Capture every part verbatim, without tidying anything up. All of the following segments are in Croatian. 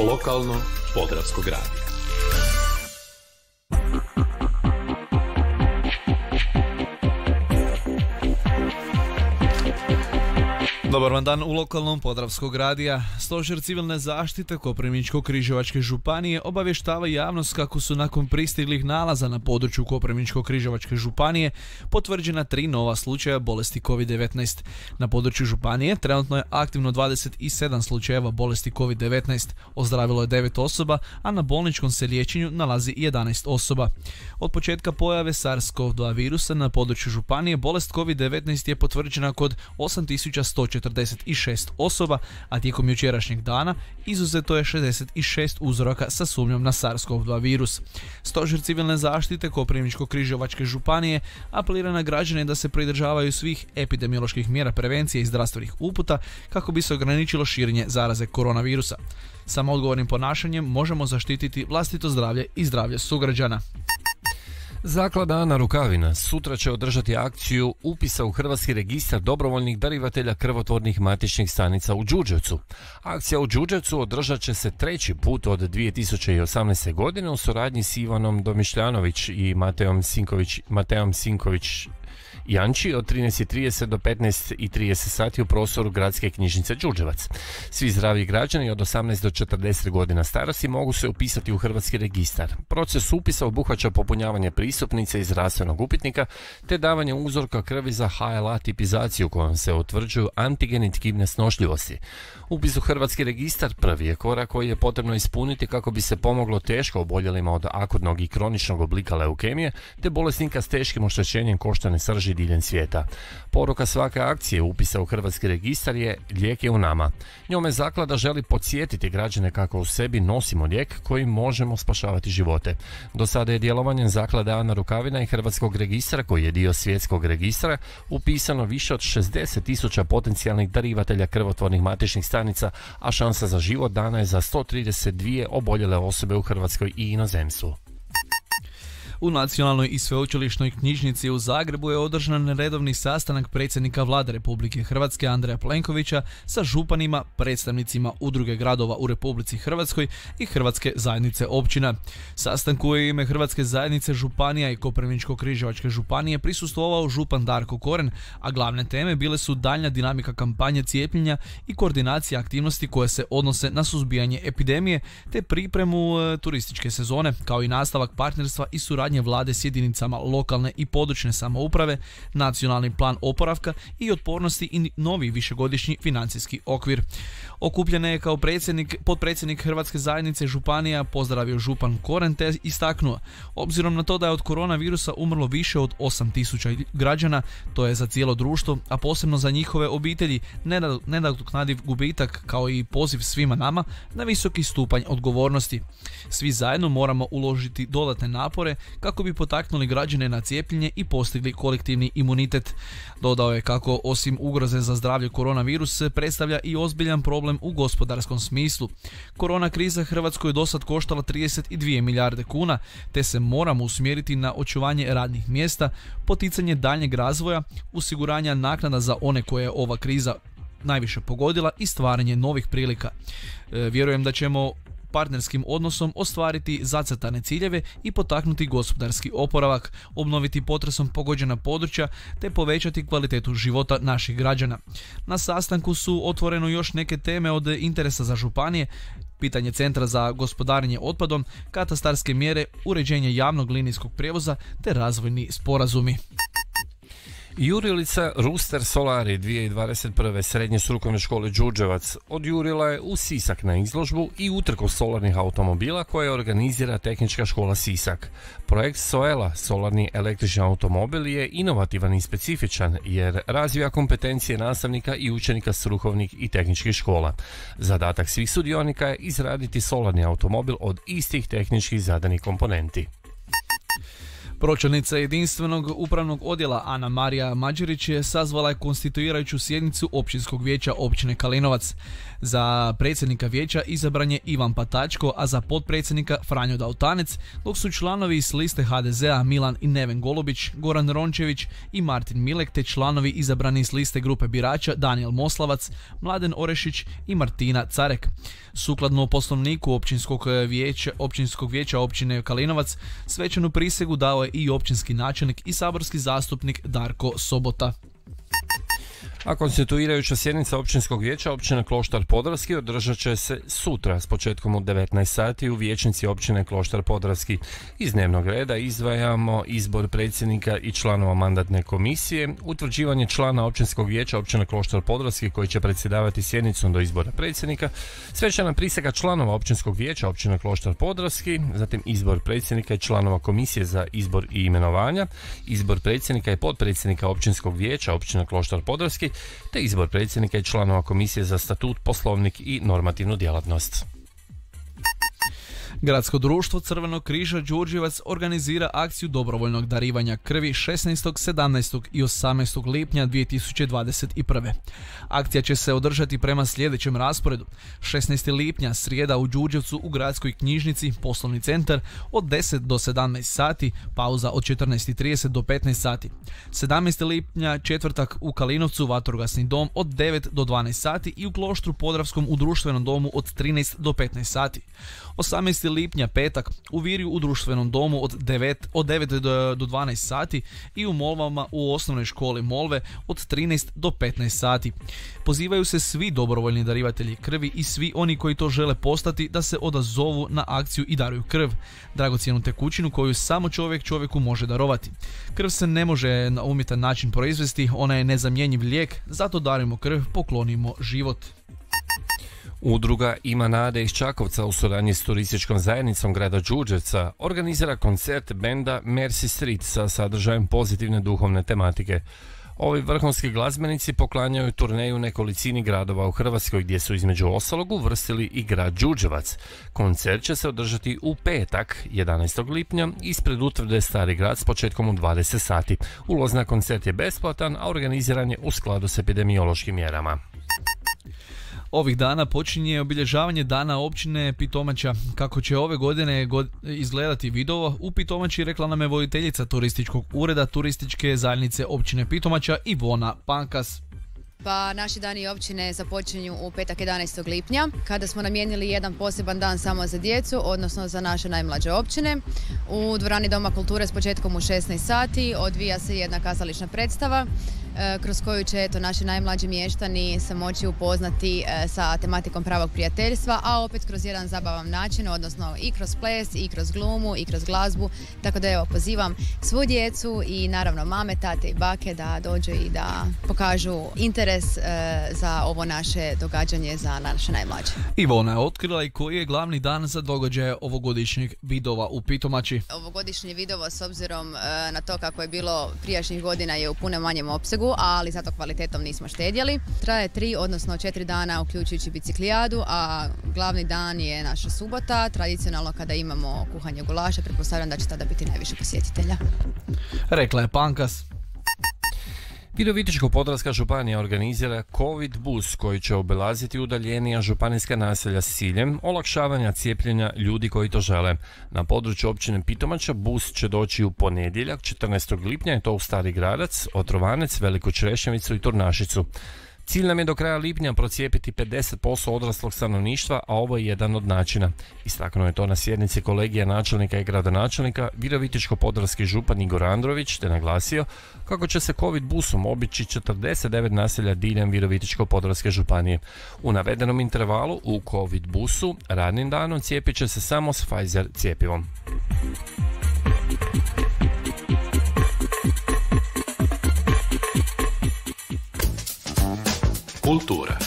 Lokalno Podravskog radija. Dobar vam dan u lokalnom Podravskog radija. Stožer civilne zaštite Koprivničko-križevačke županije obavještava javnost kako su nakon pristiglih nalaza na području Koprivničko-križevačke županije potvrđena tri nova slučaja bolesti kovid devetnaest. Na području županije trenutno je aktivno dvadeset sedam slučajeva bolesti kovid devetnaest, ozdravilo je devet osoba, a na bolničkom se liječenju nalazi jedanaest osoba. Od početka pojave SARS-CoV dva virusa na području županije bolest kovid devetnaest je potvrđena kod osam tisuća sto četrdeset šest osoba, a tijekom jučerašnjeg dana izuzeto je šezdeset šest uzoraka sa sumnjom na SARS-CoV dva virus. Stožer civilne zaštite Koprivničko-križevačke županije apelira na građane da se pridržavaju svih epidemioloških mjera prevencije i zdravstvenih uputa kako bi se ograničilo širenje zaraze koronavirusa. Samo odgovornim ponašanjem možemo zaštititi vlastito zdravlje i zdravlje sugrađana. Zaklada Ana Rukavina sutra će održati akciju upisa u Hrvatski registar dobrovoljnih darivatelja krvotvornih matičnih stanica u Đurđevcu. Akcija u Đurđevcu održat će se treći put od dvije tisuće osamnaeste. godine u suradnji s Ivanom Domišljanović i Matejom Sinković, Matejom Sinković Janči od trinaest i trideset do petnaest i trideset sati u prostoru Gradske knjižnice Đurđevac. Svi zdravi građani od osamnaest do četrdeset godina starosti mogu se upisati u Hrvatski registar. Proces upisa obuhvaća popunjavanje pristupnice i zdravstvenog upitnika te davanje uzorka krvi za H L A tipizaciju kojom se utvrđuju antigeni tkivne snošljivosti. Upis u Hrvatski registar prvi je korak koji je potrebno ispuniti kako bi se pomoglo teško oboljelima od akutnog i kroničnog oblika leukemije te bolesnika s teškim oštećenjem koštane srži diljem svijeta. Poruka svake akcije upisa u Hrvatski registar je lijek je u nama. Njome zaklada želi podsjetiti građane kako u sebi nosimo lijek kojim možemo spašavati živote. Do sada je djelovanjem zaklade Ana Rukavina i Hrvatskog registra, koji je dio svjetskog registra, upisano više od šezdeset tisuća potencijalnih darivatelja krvotvornih matičnih stanica, a šansa za život dana je za sto trideset dvije oboljele osobe u Hrvatskoj i inozemstvu. U Nacionalnoj i sveučilišnoj knjižnici u Zagrebu je održan redovni sastanak predsjednika Vlade Republike Hrvatske Andreja Plenkovića sa županima, predstavnicima udruge gradova u Republici Hrvatskoj i Hrvatske zajednice općina. Sastanku je u ime Hrvatske zajednice županija i Koprivničko-križevačke županije prisustvovao župan Darko Koren, a glavne teme bile su daljnja dinamika kampanje cijepljenja i koordinacija aktivnosti koje se odnose na suzbijanje epidemije te pripremu e, turističke sezone, kao i nastavak partnerstva i suradnje Vlade s jedinicama lokalne i područne samouprave, nacionalni plan oporavka i otpornosti i novi višegodišnji financijski okvir. Okupljene je kao predsjednik, potpredsjednik Hrvatske zajednice županija pozdravio župan Koren te istaknuo: obzirom na to da je od koronavirusa umrlo više od osam tisuća građana, to je za cijelo društvo, a posebno za njihove obitelji, nenadoknadiv gubitak, kao i poziv svima nama na visoki stupanj odgovornosti. Svi zajedno moramo uložiti dodatne napore kako bi potaknuli građane na cijepljenje i postigli kolektivni imunitet. Dodao je kako osim ugroze za zdravlje koronavirus predstavlja i ozbiljan problem u gospodarskom smislu. Korona kriza Hrvatskoj je dosad koštala trideset dvije milijarde kuna, te se moramo usmjeriti na očuvanje radnih mjesta, poticanje daljnjeg razvoja, osiguranja naknada za one koje je ova kriza najviše pogodila i stvaranje novih prilika. E, vjerujem da ćemo partnerskim odnosom ostvariti zacrtane ciljeve i potaknuti gospodarski oporavak, obnoviti potresom pogođena područja te povećati kvalitetu života naših građana. Na sastanku su otvoreno još neke teme od interesa za županije, pitanje centra za gospodarenje otpadom, katastarske mjere, uređenje javnog linijskog prijevoza te razvojni sporazumi. Jurilica Ruster Solari dvije tisuće dvadeset prve. Srednje strukovne škole Đurđevac odjurila je u Sisak na izložbu i utrku solarnih automobila koje organizira Tehnička škola Sisak. Projekt Soela, solarni električni automobil, je inovativan i specifičan jer razvija kompetencije nastavnika i učenika strukovnih i tehničkih škola. Zadatak svih sudionika je izraditi solarni automobil od istih tehničkih zadanih komponenti. Pročelnica jedinstvenog upravnog odjela Ana Marija Mađerić je sazvala je konstituirajuću sjednicu općinskog vijeća općine Kalinovac. Za predsjednika vijeća izabran je Ivan Patačko, a za potpredsjednika Franjo Dautanec, dok su članovi s liste ha de zea Milan i Neven Golubić, Goran Rončević i Martin Milek, te članovi izabrani s liste grupe birača Danijel Moslavac, Mladen Orešić i Martina Carek. Sukladno poslovniku općinskog vijeća, općinskog vijeća općine Kalinovac, svečanu prisegu dao je i općinski načelnik i saborski zastupnik Darko Sobota. A konstituirajuća sjednica općinskog vijeća općine Kloštar Podravski održat će se sutra s početkom u devetnaest sati u vijećnici općine Kloštar Podravski. Iz dnevnog reda izdvajamo izbor predsjednika i članova mandatne komisije, utvrđivanje člana općinskog vijeća općine Kloštar Podravski koji će predsjedavati sjednicom do izbora predsjednika, svečana prisega članova općinskog vijeća općine Kloštar Podravski, zatim izbor predsjednika i članova komisije za izbor i imenovanja, izbor predsjednika i potpredsjednika općinskog vijeća općine Kloštar Podravski, te izbor predsjednika i članova komisije za statut, poslovnik i normativnu djelatnost. Gradsko društvo Crvenog križa Đurđevac organizira akciju dobrovoljnog darivanja krvi šesnaestog, sedamnaestog i osamnaestog lipnja dvije tisuće dvadeset prve. Akcija će se održati prema sljedećem rasporedu. šesnaestog lipnja srijeda u Đurđevcu u gradskoj knjižnici, poslovni centar od deset do sedamnaest sati, pauza od četrnaest i trideset do petnaest sati. sedamnaestog lipnja četvrtak u Kalinovcu vatrogasni dom od devet do dvanaest sati i u Kloštru Podravskom u društvenom domu od trinaest do petnaest sati. osamnaestog lipnja petak u Virju u društvenom domu od devet, od devet do dvanaest sati i u Molvama u osnovnoj školi Molve od trinaest do petnaest sati. Pozivaju se svi dobrovoljni darivatelji krvi i svi oni koji to žele postati da se odazovu na akciju i daruju krv, dragocjenu tekućinu koju samo čovjek čovjeku može darovati. Krv se ne može na umjetan način proizvesti, ona je nezamjenjiv lijek, zato darujmo krv, poklonimo život. Udruga Ima nade iz Čakovca u suradnji s turističkom zajednicom grada Đurđevca organizira koncert benda Mercy Street sa sadržajem pozitivne duhovne tematike. Ovi vrhunski glazbenici poklanjaju turneju nekolicini gradova u Hrvatskoj gdje su između ostalog uvrstili i grad Đurđevac. Koncert će se održati u petak, jedanaestog lipnja, ispred utvrde Stari grad s početkom u dvadeset sati. Ulaz na koncert je besplatan, a organiziran je u skladu s epidemiološkim mjerama. Ovih dana počinje obilježavanje dana općine Pitomača. Kako će ove godine god izgledati video, u Pitomači rekla nam je voditeljica turističkog ureda turističke zajednice općine Pitomača Ivona Pankas. Pa naši dani općine započinju u petak jedanaestog lipnja, kada smo namijenili jedan poseban dan samo za djecu, odnosno za naše najmlađe općine. U dvorani Doma kulture s početkom u šesnaest sati odvija se jedna kazališna predstava kroz koju će eto, naši najmlađi mještani se moći upoznati sa tematikom pravog prijateljstva, a opet kroz jedan zabavan način, odnosno i kroz ples, i kroz glumu, i kroz glazbu. Tako da evo, pozivam svu djecu i naravno mame, tate i bake da dođu i da pokažu interes e, za ovo naše događanje za naše najmlađe. Ivona je otkrila i koji je glavni dan za događaje ovogodišnjeg vidova u Pitomači. Ovogodišnje vidovo, s obzirom e, na to kako je bilo prijašnjih godina, je u puno manjem opsegu, ali zato kvalitetom nismo štedjeli. Traje tri, odnosno četiri dana uključujući biciklijadu, a glavni dan je naša subota, tradicionalno kada imamo kuhanje gulaša. Pretpostavljam da će tada biti najviše posjetitelja. Rekla je Pankas. Virovitičko-podravska županija organizira COVID bus koji će obilaziti udaljenija županijska naselja s ciljem olakšavanja cijepljenja ljudi koji to žele. Na području općine Pitomača bus će doći u ponedjeljak četrnaestog lipnja i to u Stari Gradac, Otrovanec, Veliku Črešnjevicu i Turnašicu. Cilj nam je do kraja lipnja procijepiti pedeset posto odraslog stanovništva, a ovo je jedan od načina. Istaknuo je to na sjednici kolegija načelnika i gradonačelnika Virovitičko-podravski župan Igor Andrović, te naglasio kako će se COVID busom obići četrdeset devet naselja diljem Virovitičko-podravske županije. U navedenom intervalu u COVID busu radnim danom cijepit će se samo s Pfizer cijepivom. Kultura.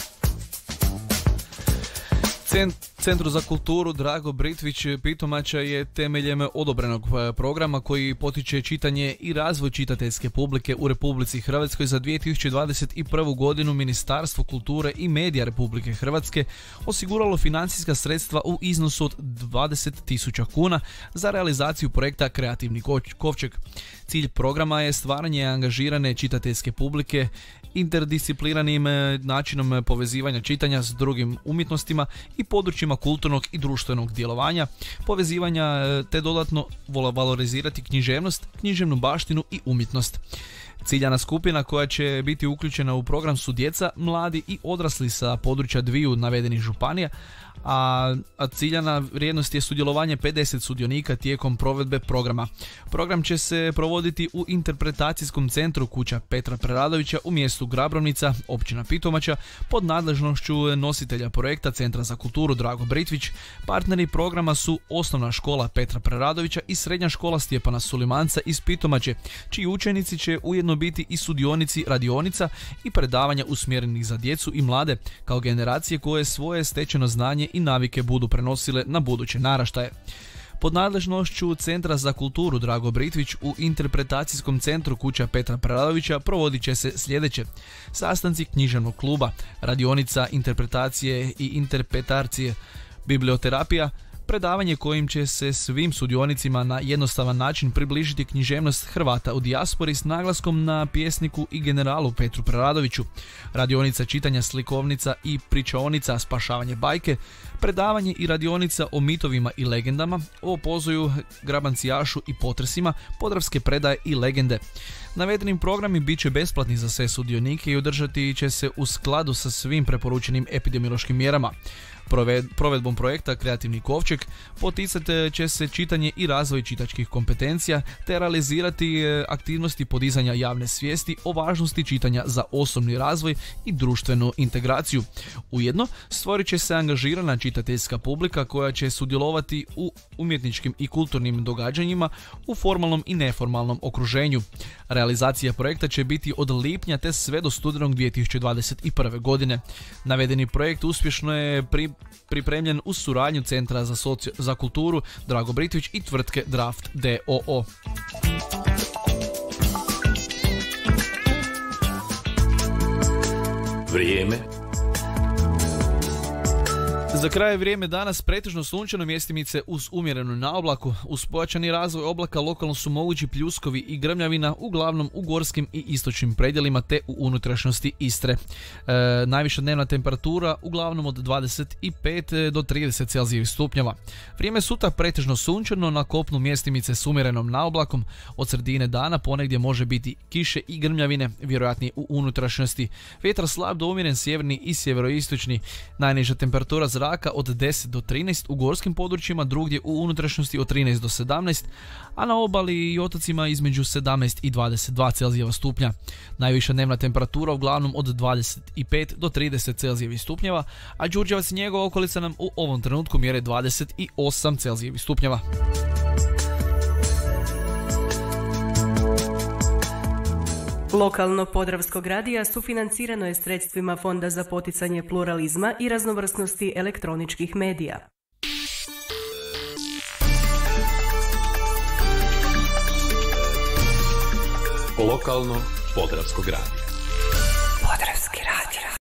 Centru za kulturu Drago Britvić Pitomača je temeljem odobrenog programa koji potiče čitanje i razvoj čitateljske publike u Republici Hrvatskoj za dvije tisuće dvadeset prvu godinu Ministarstvo kulture i medija Republike Hrvatske osiguralo financijska sredstva u iznosu od dvadeset tisuća kuna za realizaciju projekta Kreativni kovčeg. Cilj programa je stvaranje angažirane čitateljske publike interdisciplinarnim načinom povezivanja čitanja s drugim umjetnostima i područjima kulturnog i društvenog djelovanja, povezivanja te dodatno valorizirati književnost, književnu baštinu i umjetnost. Ciljana skupina koja će biti uključena u program su djeca, mladi i odrasli sa područja dviju navedenih županija, a ciljana vrijednost je sudjelovanje pedeset sudionika tijekom provedbe programa. Program će se provoditi u interpretacijskom centru Kuća Petra Preradovića u mjestu Grabrovnica, općina Pitomača, pod nadležnošću nositelja projekta Centra za kulturu Drago Britvić. Partneri programa su Osnovna škola Petra Preradovića i Srednja škola Stjepana Sulimanca iz Pitomače, čiji učenici će ujedno biti i sudionici radionica i predavanja usmjerenih za djecu i mlade, kao generacije koje svoje stečeno znanje i navike budu prenosile na buduće naraštaje. Pod nadležnošću Centra za kulturu Drago Britvić u interpretacijskom centru Kuća Petra Preradovića provodit će se sljedeće: sastanci književnog kluba, radionica interpretacije i interpretacije, biblioterapija, predavanje kojim će se svim sudionicima na jednostavan način približiti književnost Hrvata u dijaspori s naglaskom na pjesniku i generalu Petru Preradoviću, radionica čitanja slikovnica i pričaonica Spašavanje bajke, predavanje i radionica o mitovima i legendama, o Pozoju, Grabancijašu i potresima, Podravske predaje i legende. Navedeni programi bit će besplatni za sve sudionike i održati će se u skladu sa svim preporučenim epidemiološkim mjerama. Provedbom projekta Kreativni kovčeg poticat će se čitanje i razvoj čitačkih kompetencija te realizirati aktivnosti podizanja javne svijesti o važnosti čitanja za osobni razvoj i društvenu integraciju. Ujedno stvorit će se angažirana čitateljska publika koja će sudjelovati u umjetničkim i kulturnim događanjima u formalnom i neformalnom okruženju. Realizacija projekta će biti od lipnja te sve do studenog dvije tisuće dvadeset prve godine. Navedeni projekt uspješno je pri pripremljen uz suradnju Centra za, soci... za kulturu Drago Britvić i tvrtke Draft d o o. Vrijeme. Za kraj vrijeme danas pretežno sunčano, mjestimice uz umjerenu naoblaku. Uz pojačani razvoj oblaka lokalno su mogući pljuskovi i grmljavina, uglavnom u gorskim i istočnim predjelima te u unutrašnjosti Istre. E, najviša dnevna temperatura uglavnom od dvadeset pet do trideset celzijevih stupnjeva. Vrijeme sutra pretežno sunčano, na kopnu mjestimice s umjerenom naoblakom. Od sredine dana ponegdje može biti kiše i grmljavine, vjerojatnije u unutrašnjosti. Vjetar slab do umjeren sjeverni i sjeveroistočni. Najniža temperatura zraka od deset do trinaest u gorskim područjima, drugdje u unutrašnjosti od trinaest do sedamnaest, a na obali i otocima između sedamnaest i dvadeset dva celzijeva stupnja. Najviša dnevna temperatura uglavnom od dvadeset pet do trideset celzijevih stupnjeva, a Đurđevac i njegova okolica nam u ovom trenutku mjere dvadeset osam celzijevih stupnjeva. Lokalno Podravskog radija sufinancirano je sredstvima Fonda za poticanje pluralizma i raznovrsnosti elektroničkih medija. Lokalno Podravskog radija.